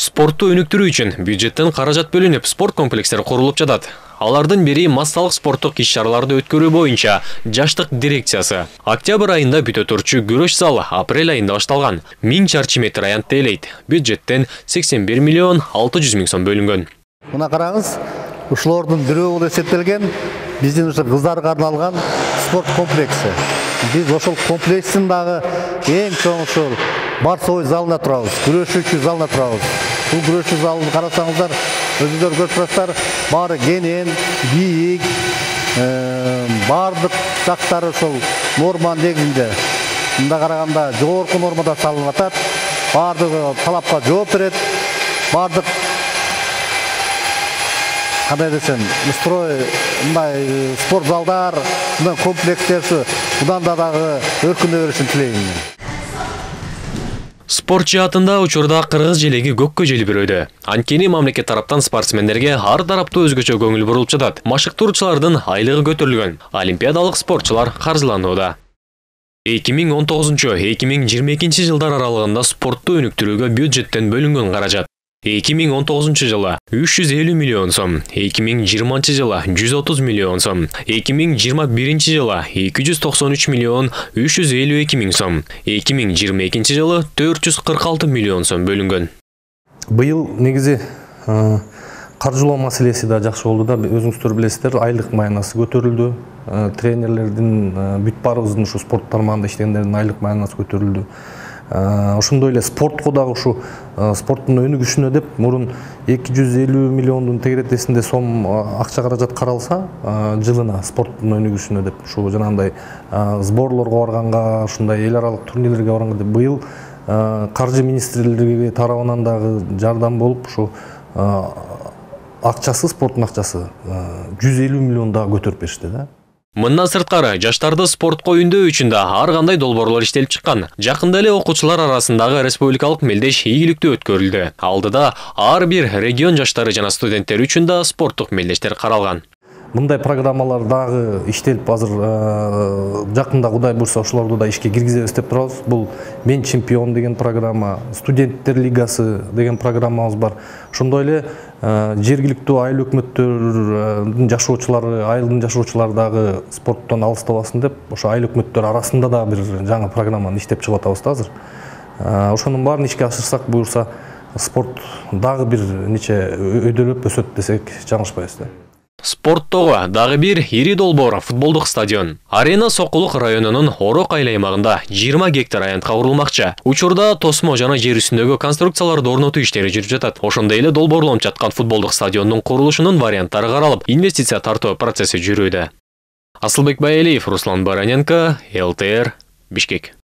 Спортту өнүктүрүү үчүн бюджеттен каражат бөлүнүп, спорт комплекстери курулуп жатат. Алардын бири массалык спорттук иш-чараларды өткөрүү боюнча жаштык дирекциясы. Октябрь айында бүтө турчу күрөш залы апрель айында башталган. 1000 чарчы метр аянтты ээлейт. Бюджеттен 81 миллион 600 миң сом бөлүнгөн. Мына караңыз, ушулордун бирөө болуп эсептелген биздин ушу кыздарга арналган спорт комплекси. Биз ошол комплекстин дагы эң чоң ушул барсой залына турабыз, күрөшүүчү залына турабыз. Бул күрөшүү залын карасаңыздар, өзүңөр көрүп турасыздар, баары кенен, бийик, баардык жактары ошол норманын негизинде. Мында караганда жогорку нормада салынып атат, баардыгы талапка жооп берет, баардык кандай десем, строй, мындай спорт залдар, мындай комплекстер мындан дагы өркүндөй беришин тилейм. Спорт жаатында учурда кыргыз желеги көккө желбирөөдө. Анткени мамлекет тараптан спортсмендерге ар тараптуу өзгөчө көңүл бурулуп жатат. Машыктыруучулардын айлыгы көтөрүлгөн. Олимпиадалык спортчулар каржыланууда. 2019-2022 жылдар аралыгында спортту өнүктүрүүгө бюджеттен бөлүнгөн каражат 2019 жылы 350 миллион сом, 2020 жылы 130 миллион сом, 2021 жылы 293 миллион 352 миң сом, 2022 жылы 446 миллион сом бөлүнгөн. Быйыл негизи каржылоо маселеси да жакшы болду да, өзүңүздөр билесиздер, айлык маянасы көтөрүлдү. Тренерлердин бүт баарыбыздын ушу спорт тармагында иштегендердин айлык маянасы көтөрүлдү. Ошондой эле спортко дагы ушу спорттун өнүгүшүнө деп мурун 250 миллиондун тегеретесинде сом акча каражат каралса, жылына спорттун өнүгүшүнө деп ушу жанагындай сборлорго барганга, ушундай эл аралык турнирлерге барганга деп быйыл каржы министрлиги тарабынан дагы жардам болуп ушу акчасы, спорттун акчасы 150 миллион дагы көтөрүп беришти да. Мындан сырткары, жаштарды спортко үндөө үчүн да ар кандай долбоорлор иштелип чыккан. Жакында эле окуучулар арасындагы республикалык мелдеш ийгиликтүү өткөрүлдү. Алдыда ар бир регион жаштары жана студенттер үчүн да спорттук мелдештер каралган. Мындай программалар дагы иштелип азыр жакында Кудай буйрса ошолорду да ишке киргизебиз деп турабыз. Бул Мен чемпион деген программа, студенттер лигасы деген программабыз бар. Ошондой эле жергиликтүү айыл өкмөттөрдүн жашоочулары, айылдын жашоочулары дагы спорттон алыстабасын деп, ошо айыл өкмөттөр арасында да бир жаңы программаны иштеп чыгып атабыз да азыр. Ошонун баарын ишке ашырсак буюрса, спорт дагы бир нече өйдөлөп өсөт десек жаңылышпайбыз да. Спорттогу дагы бир ири долбоор футболдук стадион. Арена Сокулук районунун Орок айыл аймагында 20 гектар аянтка курулмакчы. Учурда тосмо жана жер үстүндөгү конструкцияларды орнотуу иштери жүрүп жатат. Ошондой эле долбоорлонуп жаткан футболдук стадиондун курулушунун варианттары каралып, инвестиция тартуу процесси жүрүүдө. Асылбек Байалиев, Руслан Бараненко, ЛТР, Бишкек.